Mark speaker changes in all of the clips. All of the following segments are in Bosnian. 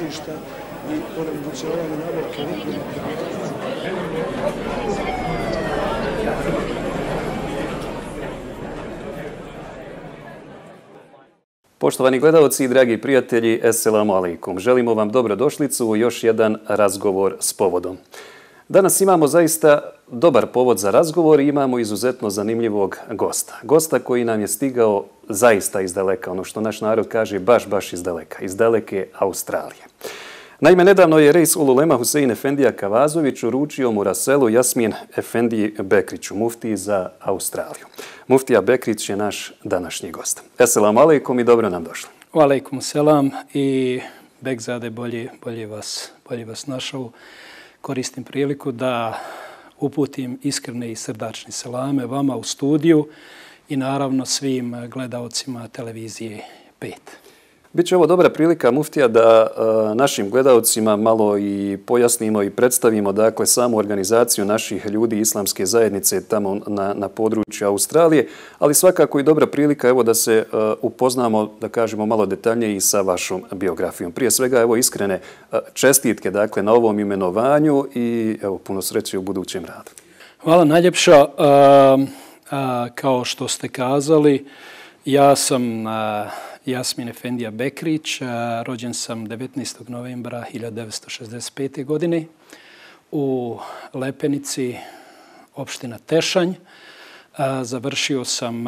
Speaker 1: tržišta i onemogućavanje nabavke
Speaker 2: Poštovani gledalci i dragi prijatelji, Esselamu alaikum. Želimo vam dobrodošlicu u još jedan razgovor s povodom. Danas imamo zaista dobar povod za razgovor i imamo izuzetno zanimljivog gosta. Gosta koji nam je stigao zaista iz daleka, ono što naš narod kaže baš iz daleka, iz daleke Australije. Naime, nedavno je Reis Ululema Husein Efendija Kavazović uručio Muraselu Jasmin Efendiji Bekriću, muftiji za Australiju. Muftija Bekrić je naš današnji gost. Esselamu alaikum i dobro nam došli.
Speaker 3: Alaikum selam i Bekzade, bolje vas našao. Koristim priliku da uputim iskrene i srdačne selame vama u studiju i naravno svim gledaocima televizije 5.
Speaker 2: Biće ovo dobra prilika, muftija, da našim gledaocima malo i pojasnimo i predstavimo dakle samu organizaciju naših ljudi islamske zajednice tamo na području Australije, ali svakako i dobra prilika evo da se upoznamo, da kažemo malo detaljnije i sa vašom biografijom. Prije svega evo iskrene čestitke dakle na ovom imenovanju i evo puno sreće u budućem radu.
Speaker 3: Hvala najljepša. Kao što ste kazali, ja sam Jasmin Efendija Bekrić, rođen sam 19. novembra 1965. godine u Lepenici, opština Tešanj. Završio sam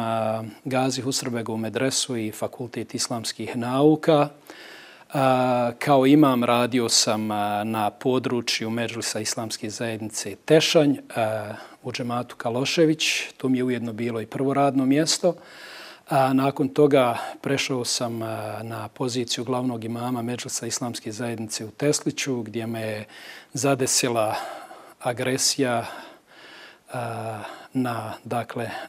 Speaker 3: Gazi Husrebegovu medresu i Fakultet islamskih nauka. Kao imam radio sam na području Medžlisa islamske zajednice Tešanj u džematu Kalošević. To mi je ujedno bilo i prvo radno mjesto. Nakon toga prešao sam na poziciju glavnog imama Medžlisa islamske zajednice u Tesliću, gdje me je zadesila agresija na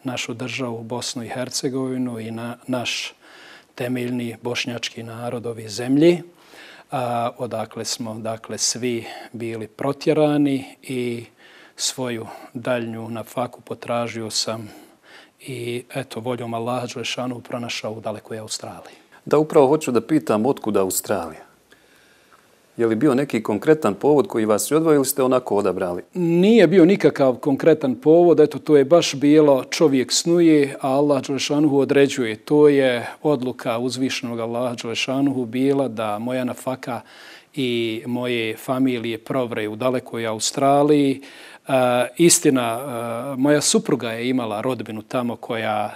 Speaker 3: našu državu Bosnu i Hercegovinu i na naš temeljni bošnjački narod ove zemlji. Odakle smo svi bili protjerani i svoju daljnju nafaku potražio sam i eto, voljom Allaha dželešanu pronašao u dalekoj Australiji.
Speaker 2: Da, upravo hoću da pitam otkud Australija. Je li bio neki konkretan povod koji vas je odvojio ili ste onako odabrali?
Speaker 3: Nije bio nikakav konkretan povod, eto, to je baš bilo čovjek snuje, a Allah dželešanu određuje. To je odluka uzvišenog Allaha dželešanu bila da moja nafaka i moje familije provre u dalekoj Australiji. Istina, moja supruga je imala rodbinu tamo koja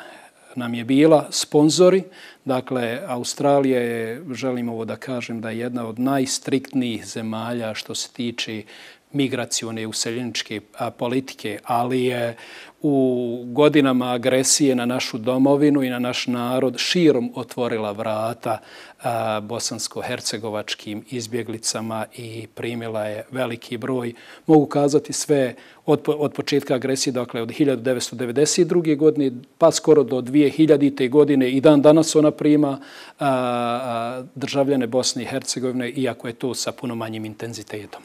Speaker 3: nam je bila sponzori. Dakle, Australija je, želim ovo da kažem, da je jedna od najstriktnijih zemalja što se tiče migracione useljeničke politike, ali je u godinama agresije na našu domovinu i na naš narod širom otvorila vrata bosansko-hercegovačkim izbjeglicama i primila je veliki broj, mogu kazati sve od početka agresije, dakle od 1992. godine pa skoro do 2000. godine i dan danas ona prima državljane Bosne i Hercegovine, iako je to sa puno manjim intenzitetom.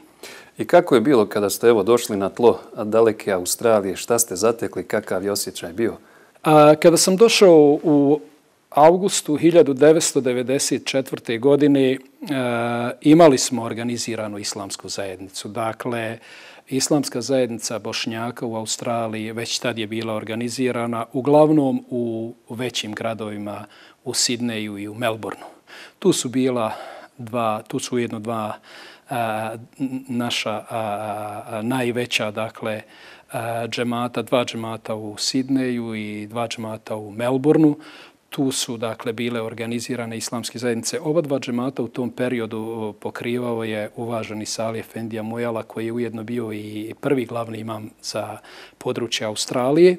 Speaker 2: I kako je bilo kada ste evo došli na tlo daleke Australije? Šta ste zatekli? Kakav je osjećaj bio?
Speaker 3: Kada sam došao u avgustu 1994. godine imali smo organiziranu islamsku zajednicu. Dakle, islamska zajednica Bošnjaka u Australiji već tad je bila organizirana uglavnom u većim gradovima, u Sidneju i u Melbourneu. Tu su ujedno dva naša najveća, dakle, džemata, 2 džemata u Sidneju i 2 džemata u Melbourneu. Tu su, dakle, bile organizirane islamske zajednice. Oba 2 džemata u tom periodu pokrivao je uvaženi Salih Efendija Mujala, koji je ujedno bio i prvi glavni imam za područje Australije.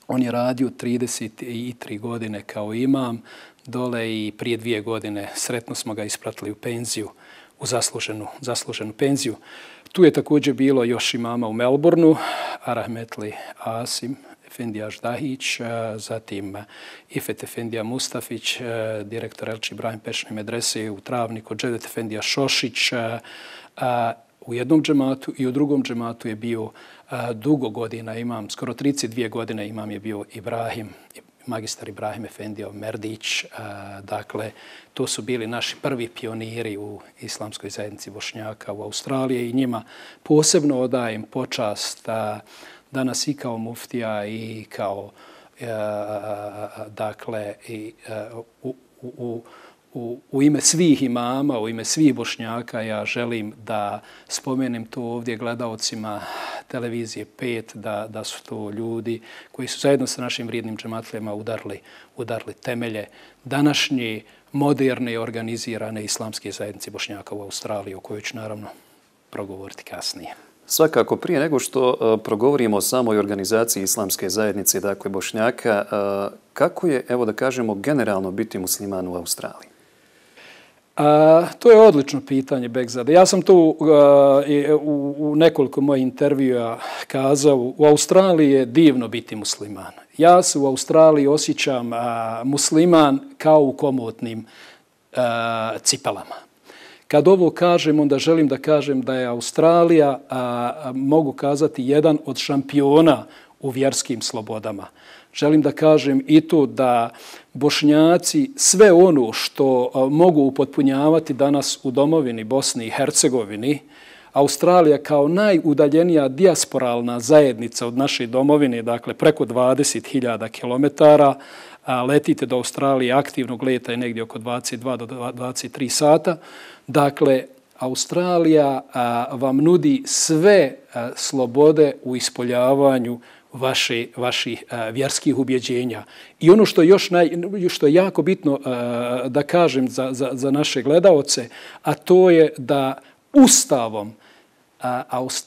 Speaker 3: On je radio 33 godine kao imam dole i prije 2 godine sretno smo ga ispratili u penziju, u zasluženu penziju. Tu je također bilo još imama u Melbourneu, Rahmetli Asim Efendija Ždahić, zatim Ifet Efendija Mustafić, direktor Elči Ibrahim Pečne medrese u Travniku, Džedet Efendija Šošić. U jednom džematu i u drugom džematu je bio dugo godina imam, skoro 32 godine imam je bio Ibrahim magistar Ibrahim Efendija Merdić. Dakle, to su bili naši prvi pioniri u islamskoj zajednici Bošnjaka u Australiji i njima posebno odajem počast danas i kao muftija i kao dakle u ime svih imama, u ime svih Bošnjaka ja želim da spomenem to ovdje gledaocima televizije 5, da su to ljudi koji su zajedno sa našim vrijednim džematlima udarli temelje današnje moderne i organizirane islamske zajednice Bošnjaka u Australiji, o kojoj ću naravno progovoriti kasnije.
Speaker 2: Svakako, prije nego što progovorimo o samoj organizaciji islamske zajednice, dakle Bošnjaka, kako je, evo da kažemo, generalno biti musliman u Australiji?
Speaker 3: To je odlično pitanje, Bekzade. Ja sam tu u nekoliko mojih intervjua kazao, u Australiji je divno biti musliman. Ja se u Australiji osjećam musliman kao u komotnim cipelama. Kad ovo kažem, onda želim da kažem da je Australija, mogu kazati, jedan od šampiona u vjerskim slobodama. Želim da kažem i to da Bošnjaci sve ono što mogu upotpunjavati danas u domovini Bosni i Hercegovini, Australija kao najudaljenija dijasporalna zajednica od naše domovine, dakle preko 20.000 kilometara, letite do Australije, aktivnog leta je negdje oko 22 do 23 sata. Dakle, Australija vam nudi sve slobode u ispoljavanju vaših vjerskih ubjeđenja. I ono što je jako bitno da kažem za naše gledaoce, a to je da Ustavom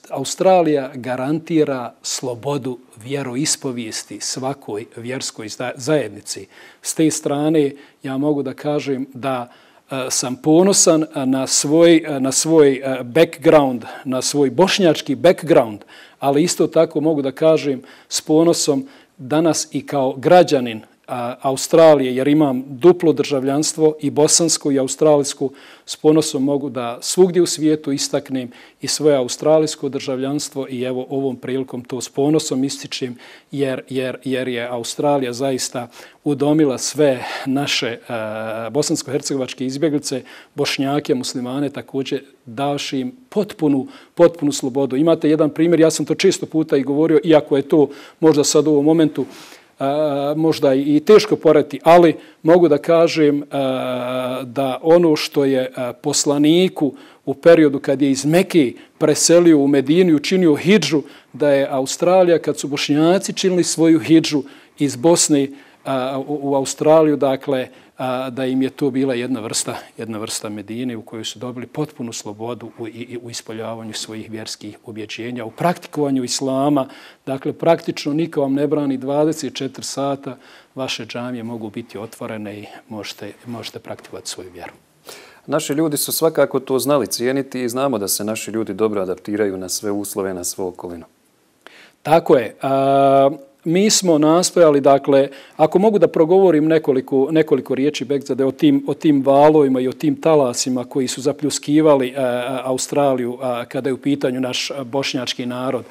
Speaker 3: Australija garantira slobodu vjeroispovijesti svakoj vjerskoj zajednici. S te strane ja mogu da kažem da sam ponosan na svoj background, na svoj bošnjački background, ali isto tako mogu da kažem s ponosom danas i kao građanin Australije, jer imam duplo državljanstvo i bosansko i australijsko, s ponosom mogu da svugdje u svijetu istaknem i svoje australijsko državljanstvo i evo ovom prilikom to s ponosom ističem jer je Australija zaista udomila sve naše bosansko-hercegovačke izbjeglice, Bošnjake, muslimane, također davši im potpunu slobodu. Imate jedan primjer, ja sam to često puta i govorio, iako je to možda sad u ovom momentu možda i teško poreti, ali mogu da kažem da ono što je poslaniku u periodu kad je iz Mekke preselio u Medinu i učinio hidžu, da je Australija, kad su Bošnjaci činili svoju hidžu iz Bosne u Australiju, dakle, da im je to bila jedna vrsta Medine u kojoj su dobili potpunu slobodu u ispoljavanju svojih vjerskih ubjeđenja, u praktikovanju islama. Dakle, praktično niko vam ne brani 24 sata, vaše džamije mogu biti otvorene i možete praktikovati svoju vjeru.
Speaker 2: Naši ljudi su svakako to znali cijeniti i znamo da se naši ljudi dobro adaptiraju na sve uslove, na svoju okolinu.
Speaker 3: Tako je. Mi smo nastojali, dakle, ako mogu da progovorim nekoliko riječi, Bekzade, o tim valovima i o tim talasima koji su zapljuskivali Australiju kada je u pitanju naš bošnjački narod.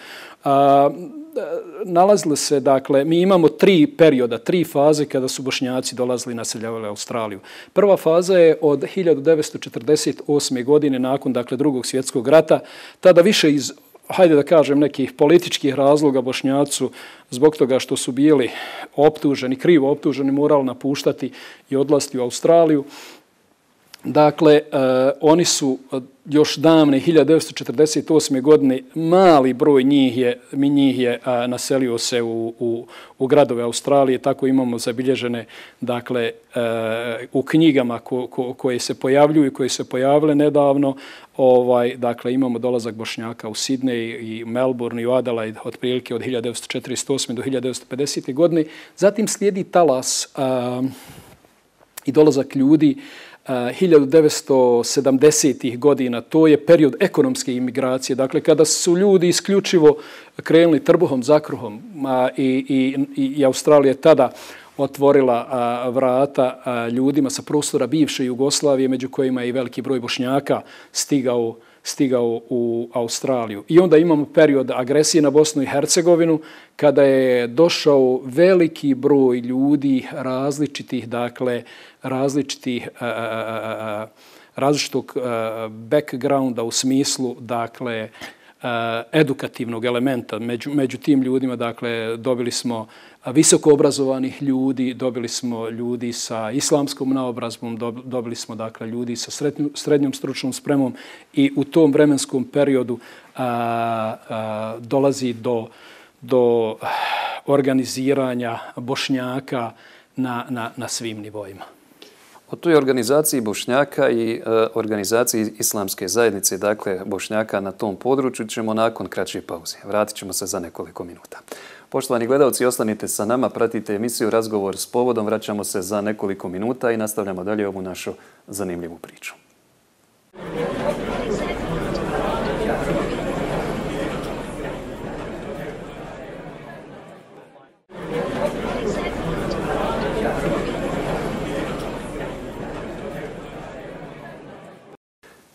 Speaker 3: Nalazili se, dakle, mi imamo 3 perioda, 3 faze kada su Bošnjaci dolazili i naseljavali Australiju. Prva faza je od 1948. godine nakon, dakle, Drugog svjetskog rata, tada više iz hajde da kažem, nekih političkih razloga Bošnjaci zbog toga što su bili optuženi, krivo optuženi, morali napuštati i odlaziti u Australiju. Dakle, oni su još davne 1948. godine, mali broj njih je naselio se u gradove Australije, tako imamo zabilježene, dakle, u knjigama koje se pojavljuju i koje se pojavile nedavno. Dakle, imamo dolazak Bošnjaka u Sidney i Melbourne i u Adelaide otprilike od 1948. do 1950. godine. Zatim slijedi talas i dolazak ljudi 1970. godina, to je period ekonomske imigracije, dakle kada su ljudi isključivo krenuli trbuhom za kruhom i Australija tada otvorila vrata ljudima sa prostora bivše Jugoslavije, među kojima je i veliki broj Bošnjaka stigao u Australiju. I onda imamo period agresije na Bosnu i Hercegovinu kada je došao veliki broj ljudi različitog backgrounda u smislu edukativnog elementa. Među tim ljudima dobili smo visoko obrazovanih ljudi, dobili smo ljudi sa islamskom naobrazbom, dobili smo ljudi sa srednjom stručnom spremom i u tom vremenskom periodu dolazi do organiziranja Bošnjaka na svim nivoima.
Speaker 2: O toj organizaciji Bošnjaka i organizaciji Islamske zajednice, dakle Bošnjaka na tom području, ćemo nakon kraće pauze. Vratit ćemo se za nekoliko minuta. Poštovani gledalci, ostanite sa nama, pratite emisiju Razgovor s povodom. Vraćamo se za nekoliko minuta i nastavljamo dalje ovu našu zanimljivu priču.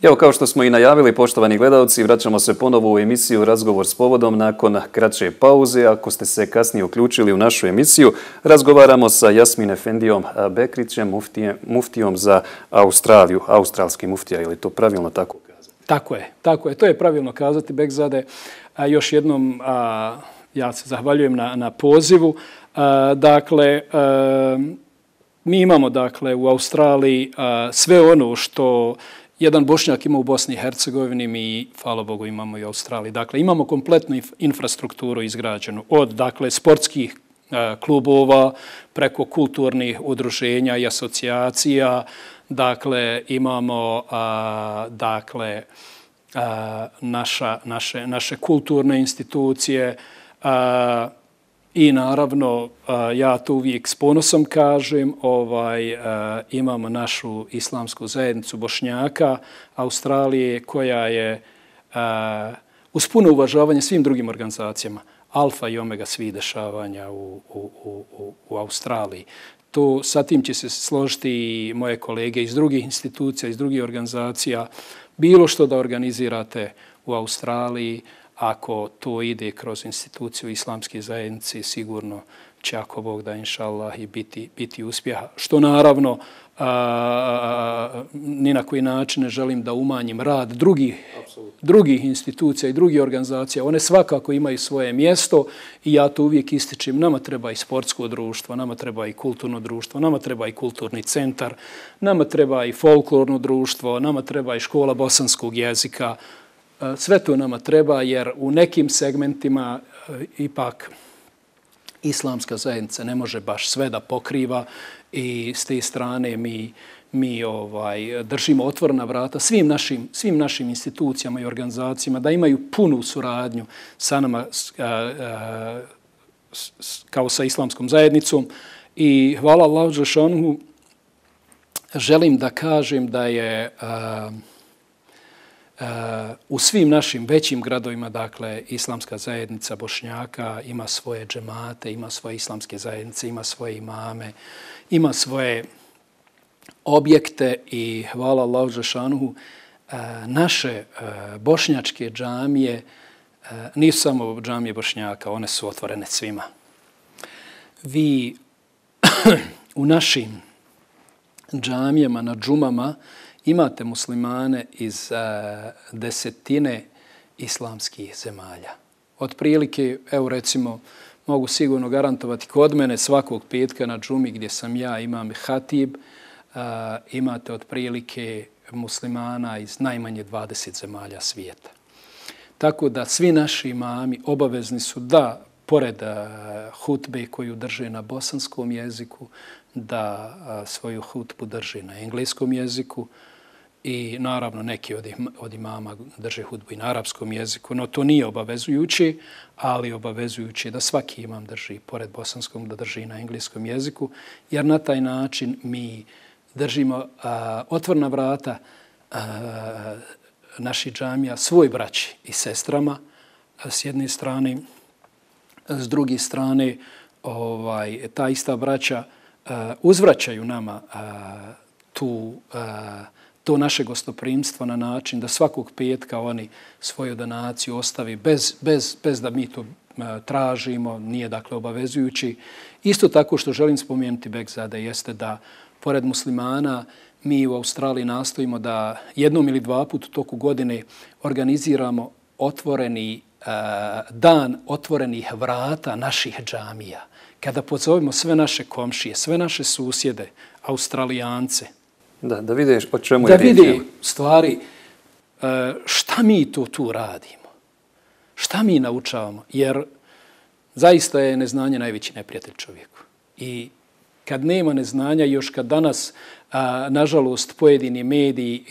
Speaker 2: Evo, kao što smo i najavili, poštovani gledalci, vraćamo se ponovo u emisiju Razgovor s povodom nakon kraće pauze. Ako ste se kasnije uključili u našu emisiju, razgovaramo sa Jasmin Efendijom Bekrićem, muftijom za Australiju. Australski muftija, je li to pravilno tako kazati?
Speaker 3: Tako je. To je pravilno kazati, Bekzade. Još jednom ja se zahvaljujem na pozivu. Mi imamo u Australiji sve ono što jedan Bošnjak ima u Bosni i Hercegovini, mi, hvala Bogu, imamo i u Australiji. Dakle, imamo kompletnu infrastrukturu izgrađenu od sportskih klubova preko kulturnih udruženja i asocijacija. Dakle, imamo naše kulturne institucije i naravno, ja to uvijek s ponosom kažem, imamo našu islamsku zajednicu Bošnjaka Australije koja je uz puno uvažavanje svim drugim organizacijama alfa i omega svih dešavanja u Australiji. Sa tim će se složiti i moje kolege iz drugih institucija, iz drugih organizacija. Bilo što da organizirate u Australiji, ako to ide kroz instituciju islamske zajednice, sigurno će, ako Bog da, inša Allah, i biti uspjeha. Što naravno, ni na koji način ne želim da umanjim rad drugih institucija i drugih organizacija. One svakako imaju svoje mjesto i ja to uvijek ističem. Nama treba i sportsko društvo, nama treba i kulturno društvo, nama treba i kulturni centar, nama treba i folklorno društvo, nama treba i škola bosanskog jezika. Sve to nama treba jer u nekim segmentima ipak islamska zajednica ne može baš sve da pokriva i s te strane mi držimo otvorena vrata svim našim institucijama i organizacijama da imaju punu suradnju sa nama kao sa islamskom zajednicom. I hvala Allahu dželešanu, želim da kažem da je u svim našim većim gradovima, dakle, islamska zajednica Bošnjaka ima svoje džemate, ima svoje islamske zajednice, ima svoje imame, ima svoje objekte i hvala Allahu dželešanu, naše bošnjačke džamije nisu samo džamije Bošnjaka, one su otvorene svima. Vi u našim džamijama na džumama imate muslimane iz desetine islamskih zemalja. Otprilike, evo recimo, mogu sigurno garantovati kod mene svakog petka na džumi gdje sam ja, imam hatib, imate otprilike muslimana iz najmanje 20 zemalja svijeta. Tako da svi naši imami obavezni su da, pored hutbe koju drže na bosanskom jeziku, da svoju hutbu drže na engleskom jeziku i naravno neki od imama drže hutbu i na arapskom jeziku, no to nije obavezujuće, ali obavezujuće da svaki imam drži, pored bosanskom, da drži na engleskom jeziku, jer na taj način mi držimo otvorena vrata naših džamija svoj braći i sestrama s jedne strane, s druge strane ta ista braća uzvraćaju nama to naše gostoprimstvo na način da svakog petka oni svoju donaciju ostavi bez da mi to tražimo, nije dakle obavezujući. Isto tako što želim spomenuti Bekzade jeste da pored muslimana mi u Australiji nastojimo da jednom ili dva puta u toku godine organiziramo otvoreni dan otvorenih vrata naših džamija. Kada pozovemo sve naše komšije, sve naše susjede, Australijance,
Speaker 2: da vidiš o čemu je riječ.
Speaker 3: Da vidi stvari šta mi to tu radimo, šta mi naučavamo, jer zaista je neznanje najveći neprijatelj čovjeku. I kad nema neznanja, još kad danas, nažalost, pojedini mediji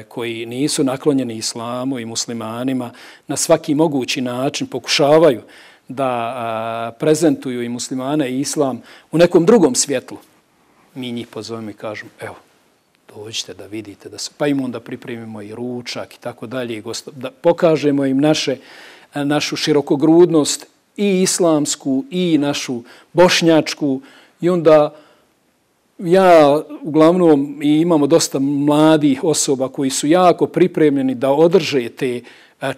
Speaker 3: koji nisu naklonjeni islamu i muslimanima na svaki mogući način pokušavaju da prezentuju i muslimane i islam u nekom drugom svjetlu, mi njih pozovemo i kažemo, evo, dođite da vidite, pa im onda pripremimo i ručak i tako dalje, da pokažemo im našu širokogrudnost i islamsku i našu bošnjačku i onda ja uglavnom imamo dosta mladih osoba koji su jako pripremljeni da održe te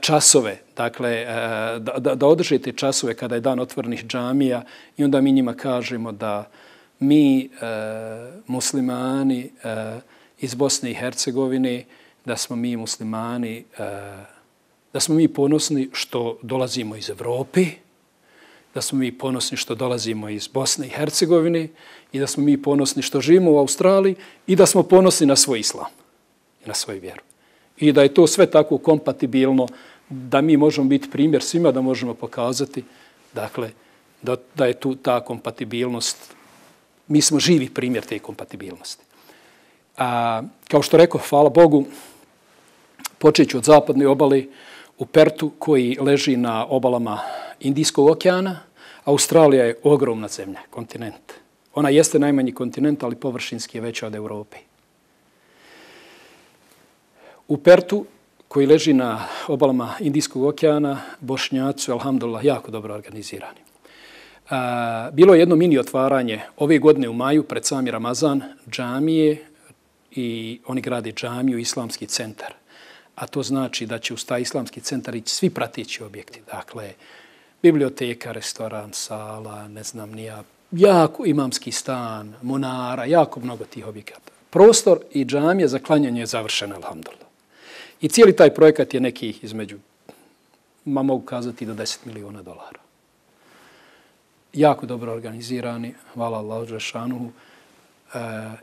Speaker 3: časove, dakle da održe te časove kada je dan otvorenih džamija i onda mi njima kažemo da mi muslimani iz Bosne i Hercegovine, da smo mi muslimani, da smo mi ponosni što dolazimo iz Evrope, da smo mi ponosni što dolazimo iz Bosne i Hercegovine i da smo mi ponosni što živimo u Australiji i da smo ponosni na svoj islam i na svoju vjeru. I da je to sve tako kompatibilno da mi možemo biti primjer svima, da možemo pokazati dakle, da je tu ta kompatibilnost. Mi smo živi primjer te kompatibilnosti. Kao što rekao, hvala Bogu, počet ću od zapadne obale u Pertu koji leži na obalama Indijskog okeana. Australija je ogromna zemlja, kontinent. Ona jeste najmanji kontinent, ali površinski je veća od Evrope. U Pertu, koji leži na obalama Indijskog okeana, Bošnjaci su, alhamdulillah, jako dobro organizirani. Bilo je jedno mini otvaranje ove godine u maju, pred sami Ramazan, džamije i oni grade džamiju, islamski centar. A to znači da će uz taj islamski centar ići svi prateći objekti. Dakle, biblioteka, restoran, sala, ne znam nija, jako imamski stan, monara, jako mnogo tih objekata. Prostor i džamija za klanjanje je završena, alhamdulillah. I cijeli taj projekat je nekih između, mogu kazati, do $10 miliona. Jako dobro organizirani, hvala Allahu dželešanuhu.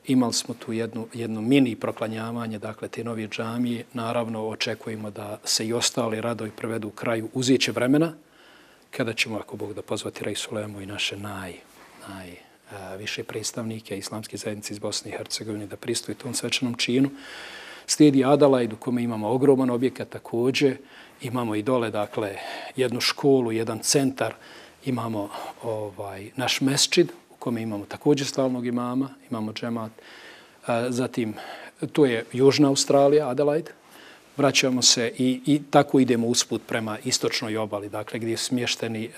Speaker 3: Imali smo tu jedno mini proklanjavanje, dakle, te nove džamije. Naravno, očekujemo da se i ostali radovi prevedu u kraju. Uzet će vremena, kada ćemo, ako Bog da, pozvati Rej Sulemu i naše najviše predstavnike islamske zajednice iz Bosne i Hercegovine da pristuju tom svečanom činu. Slijedi Adelaide u kome imamo ogroman objekat također. Imamo i dole, dakle, jednu školu, jedan centar. Imamo naš mesdžid u kome imamo također stalnog imama, imamo džemat. Zatim, to je Južna Australija, Adelaide. Vraćamo se i tako idemo usput prema istočnoj obali, dakle gdje je smješteni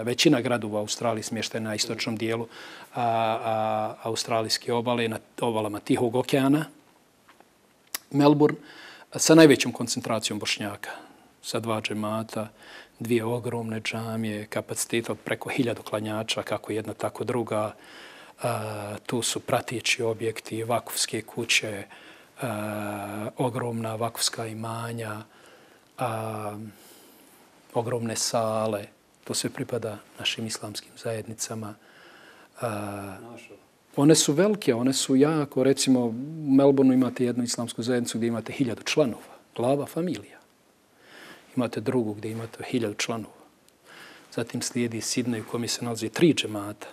Speaker 3: većina gradova u Australiji smještena na istočnom dijelu australijske obale, na obalama Tihog okeana. Melbourne sa najvećom koncentracijom Bošnjaka, sa 2 džemata, 2 ogromne džamije, kapaciteta od preko 1000 klanjača, kako jedna, tako druga. Tu su prateći objekti, vakufske kuće, ogromna vakufska imanja, ogromne sale. To sve pripada našim islamskim zajednicama. One su velike, one su jako. Recimo, u Melbourneu imate jednu islamsku zajednicu gdje imate 1000 članova, glava familija. Imate drugu gdje imate 1000 članova. Zatim slijedi Sidney u kome se nalazi 3 džemata.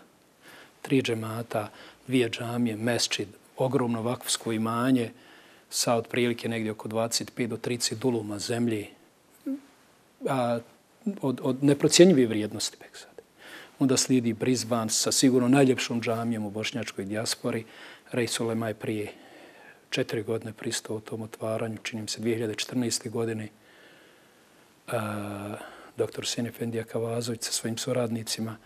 Speaker 3: 3 džemata, 2 džamije, mesdžid, ogromno vakufsko imanje sa otprilike negdje oko 25 do 30 duluma zemlje od neprocjenjive vrijednosti. Onda slijedi Brisbane sa sigurno najljepšom džamijom u bošnjačkoj dijaspori. Rej Sulema je prije 4 godine pristao u tom otvaranju, činim se 2014. godine. Dr. Hüsein Efendija Kavazović sa svojim suradnicima.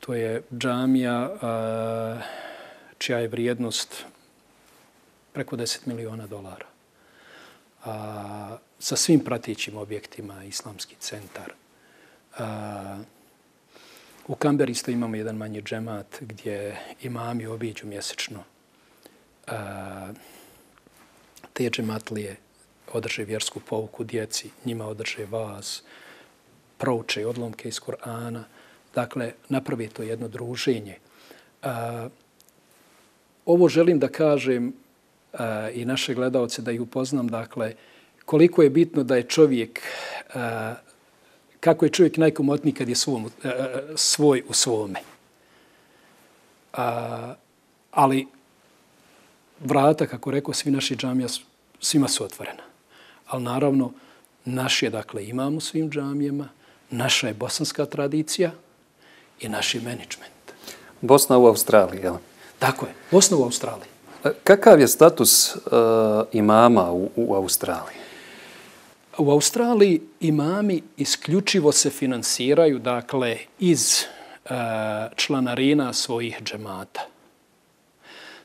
Speaker 3: To je džamija čija je vrijednost preko $10 miliona. Sa svim pratećim objektima, islamski centar. U Kamberi isto imamo jedan manji džemat gdje imami obiđu mjesečno te džematlije, održe vjersku pouku djeci, njima održe vaz, prouče odlomke iz Kur'ana. Dakle, napravi to jedno druženje. Ovo želim da kažem i naše gledalce da ih upoznam, dakle, koliko je bitno da je čovjek, kako je čovjek najkomotniji kad je svoj u svome. Ali vrata, kako rekao, svi naši džamija, svima su otvorena. Ali naravno, naš je, dakle, imam u svim džamijama, naša je bosanska tradicija i naš je menadžment.
Speaker 2: Bosna u Australiji, jel?
Speaker 3: Tako je, Bosna u Australiji.
Speaker 2: Kakav je status imama u Australiji?
Speaker 3: U Australiji imami isključivo se finansiraju, dakle, iz članarina svojih džemata.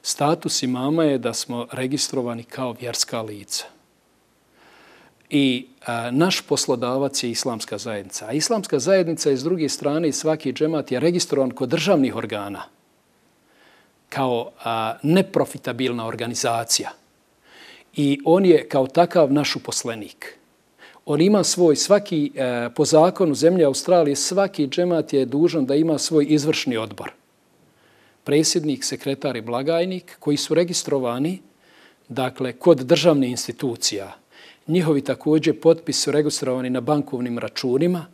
Speaker 3: Status imama je da smo registrovani kao vjerska lica. I naš poslodavac je islamska zajednica. A islamska zajednica je s druge strane, svaki džemat je registrovan kod državnih organa kao neprofitabilna organizacija. I on je kao takav naš uposlenik. On ima svoj, svaki, po zakonu zemlje Australije, svaki džemat je dužan da ima svoj izvršni odbor. Predsjednik, sekretar i blagajnik koji su registrovani, dakle, kod državnih institucija. Njihovi također potpisi su registrovani na bankovnim računima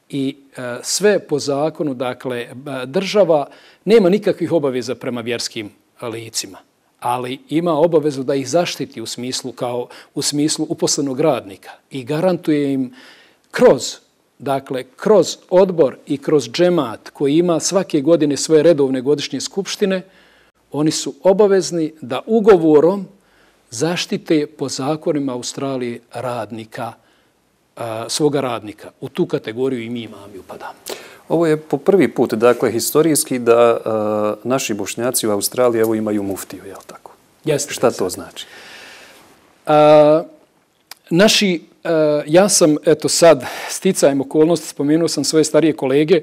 Speaker 3: i sve po zakonu, dakle, država nema nikakvih obaveza prema vjerskim licima, ali ima obavezu da ih zaštiti u smislu uposlenog radnika i garantuje im kroz odbor i kroz džemat koji ima svake godine svoje redovne godišnje skupštine, oni su obavezni da ugovorom zaštite po zakonima Australije radnika, svoga radnika. U tu kategoriju i mi imami upadamo.
Speaker 2: Ovo je po prvi put, dakle, historijski da naši Bošnjaci u Australiji evo imaju muftiju, je li tako?
Speaker 3: Jeste.
Speaker 2: Šta to znači? Ja sam, eto sad, sticajem okolnosti, spomenuo sam svoje starije kolege,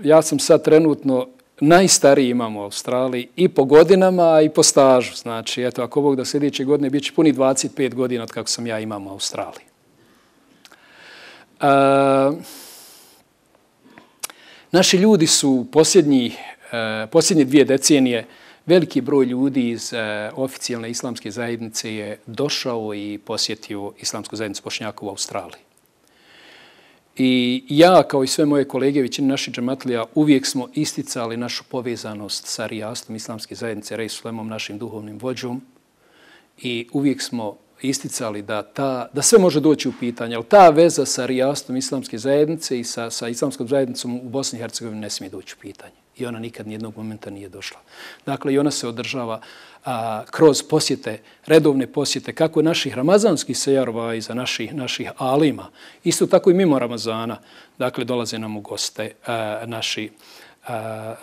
Speaker 2: ja sam sad trenutno najstariji imam u Australiji i po godinama i po stažu. Znači, eto, ako Bog da sljedeće godine bit će puni 25 godina od kako sam ja imam u Australiji. Naši ljudi su posljednje 2 decenije, veliki broj ljudi iz oficijalne islamske zajednice je došao i posjetio islamsku zajednicu Bošnjaka u Australiji. I ja, kao i sve moje kolege, većina naših džematlija, uvijek smo isticali našu povezanost sa rijastom islamske zajednice, Rej Sulemom, našim duhovnim vođom. I uvijek smo isticali da sve može doći u pitanje, ali ta veza sa rijastom islamske zajednice i sa islamskom zajednicom u Bosni i Hercegovini ne smije doći u pitanje. I ona nikad nijednog momenta nije došla. Dakle, i ona se održava kroz posjete, redovne posjete, kako naših ramazanskih sejarova i za naših alima. Isto tako i mimo Ramazana. Dakle, dolaze nam u goste naši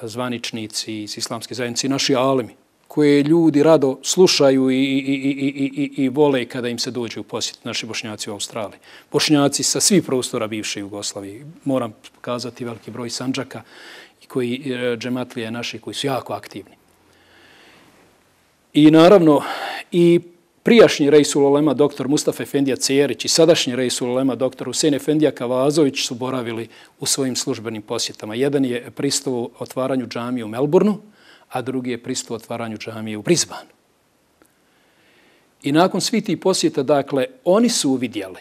Speaker 2: zvaničnici iz islamske zajednice i naši alimi, koje ljudi rado slušaju i vole kada im se dođe u posjet, naši Bošnjaci u Australiji. Bošnjaci sa svih prostora bivše Jugoslavije. Moram pokazati veliki broj Sandžaka koji džematlije naši koji su jako aktivni. I naravno i prijašnji Reisul Ulema dr. Mustafa Efendija Cerić i sadašnji Reisul Ulema dr. Husein Efendija Kavazović su boravili u svojim službenim posjetama. Jedan je prisutovao otvaranju džamije u Melbourneu, a drugi je prisutovao otvaranju džamije u Brisbaneu. I nakon svih tih posjeta, dakle, oni su uvidjeli.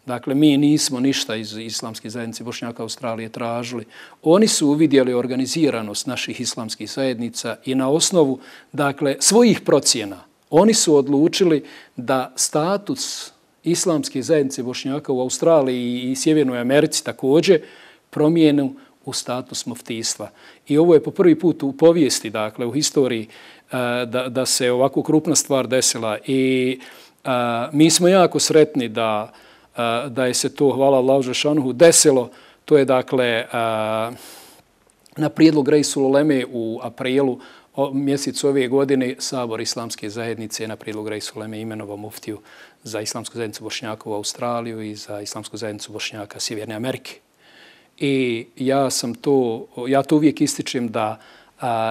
Speaker 2: Dakle, mi nismo ništa iz islamske zajednice Bošnjaka Australije tražili. Oni su uvidjeli organiziranost naših islamskih zajednica i na osnovu, dakle, svojih procjena oni su odlučili da status islamske zajednice Bošnjaka u Australiji i Sjevernoj Americi također promijenu u status muftijstva. I ovo je po prvi put u povijesti, dakle, u historiji da se ovako krupna stvar desila. I mi smo jako sretni da je se to, hvala Allahu dželešanuhu, desilo. To je, dakle, na prijedlog Reisul Uleme u aprilu
Speaker 3: mjesecu ove godine Sabor Islamske zajednice na prijedlog Rejs Uleme imenovao muftiju za Islamsku zajednicu Bošnjaka u Australiju i za Islamsku zajednicu Bošnjaka Sjeverne Amerike. I ja to uvijek ističem da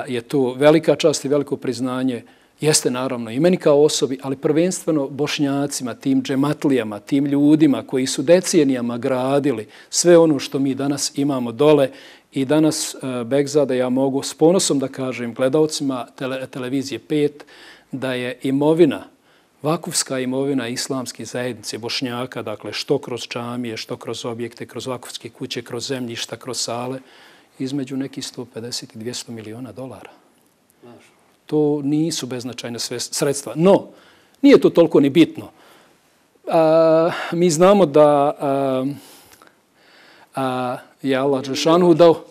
Speaker 3: je to velika čast i veliko priznanje. Jeste naravno i meni kao osobi, ali prvenstveno Bošnjacima, tim džematlijama, tim ljudima koji su decenijama gradili sve ono što mi danas imamo dole. I danas, Begzade, ja mogu s ponosom da kažem gledaocima televizije 5 da je imovina, vakufska imovina Islamske zajednice Bošnjaka, dakle što kroz džamije, što kroz objekte, kroz vakufske kuće, kroz zemljišta, kroz sale, između nekih 150 i 200 miliona dolara. To nisu beznačajne sredstva. No, nije to toliko ni bitno. Mi znamo da je Allah Đelešanu dao,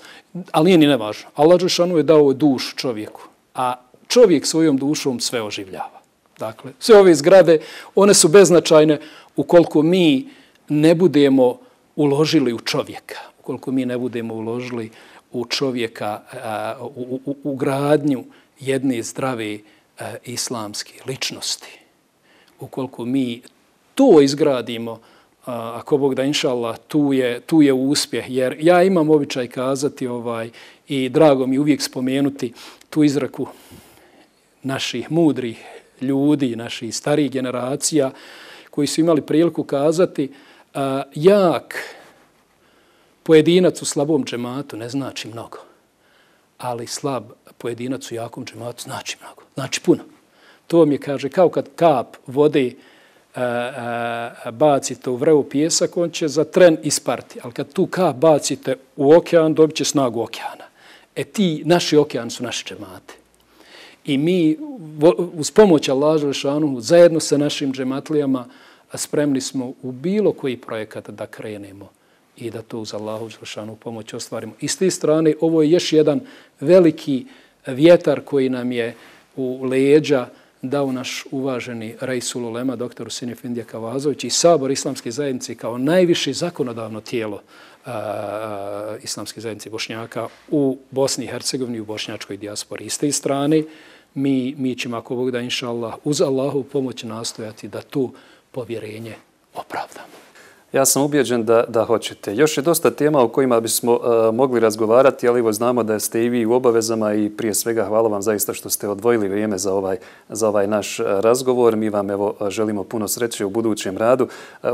Speaker 3: ali nije ni nevažno, Allah Đelešanu je dao dušu čovjeku, a čovjek svojom dušom sve oživljava. Dakle, sve ove zgrade, one su beznačajne ukoliko mi ne budemo uložili u čovjeka, ukoliko mi ne budemo uložili u čovjeka, u gradnju jedne zdrave islamske ličnosti. Ukoliko mi to izgradimo, ako Bog da, inša Allah, tu je uspjeh. Jer ja imam običaj kazati i drago mi uvijek spomenuti tu izreku naših mudrih ljudi, naših starijih generacija koji su imali priliku kazati jak pojedinac u slabom džematu ne znači mnogo, ali slab pojedinac u jakom džematu znači mnogo, znači puno. To mi kaže kao kad kap vode bacite u vrevu pijesak, on će za tren isparti. Ali kad tu kap bacite u okean, dobit će snagu okeana. Ti naši okeani su naše džemate. I mi uz pomoć Allaha Đelešanu zajedno sa našim džematlijama spremni smo u bilo koji projekat da krenemo i da to uz Allahu Đelešanu pomoć ostvarimo. I s te strane ovo je još jedan veliki vjetar koji nam je u leđa dao naš uvaženi Rejsul Ulema, dr. Husein Efendija Kavazović i Sabor Islamske zajednice kao najviše zakonodavno tijelo Islamske zajednice Bošnjaka u Bosni i Hercegovini i u bošnjačkoj dijaspori. I s te strane mi ćemo, ako Bog da, inša Allah, uz Allahu pomoć nastojati da to povjerenje opravdamo.
Speaker 2: Ja sam ubijeđen da hoćete. Još je dosta tema o kojima bismo mogli razgovarati, ali evo znamo da ste i vi u obavezama i prije svega hvala vam zaista što ste odvojili vrijeme za ovaj naš razgovor. Mi vam evo želimo puno sreće u budućem radu.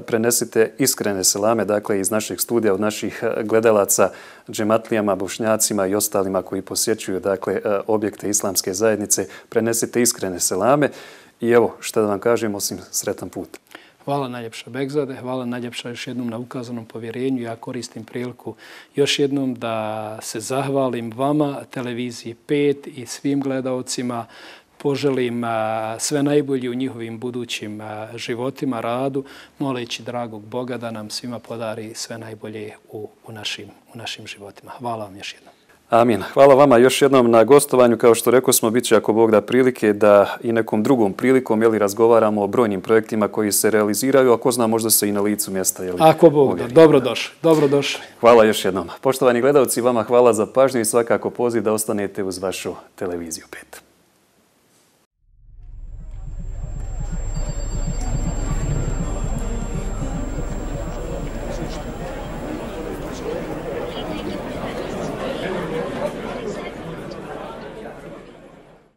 Speaker 2: Prenesite iskrene selame, dakle iz naših studija, od naših gledalaca, džematlijama, bošnjacima i ostalima koji posjećuju dakle objekte Islamske zajednice. Prenesite iskrene selame i evo što da vam kažem osim sretan put.
Speaker 3: Hvala najljepša Begzade, hvala najljepša još jednom na ukazanom povjerenju. Ja koristim priliku još jednom da se zahvalim vama, televiziji 5 i svim gledaocima. Poželim sve najbolje u njihovim budućim životima, radu, moleći dragog Boga da nam svima podari sve najbolje u našim životima. Hvala vam još jednom.
Speaker 2: Amin. Hvala vama još jednom na gostovanju. Kao što rekao smo, bit će, ako Bog da, prilike da i nekom drugom prilikom razgovaramo o brojnim projektima koji se realiziraju, a ko zna možda se i na licu mjesta.
Speaker 3: Ako Bog da, dobrodošli.
Speaker 2: Hvala još jednom. Poštovani gledalci, vama hvala za pažnju i svakako poziv da ostanete uz vašu televiziju 5.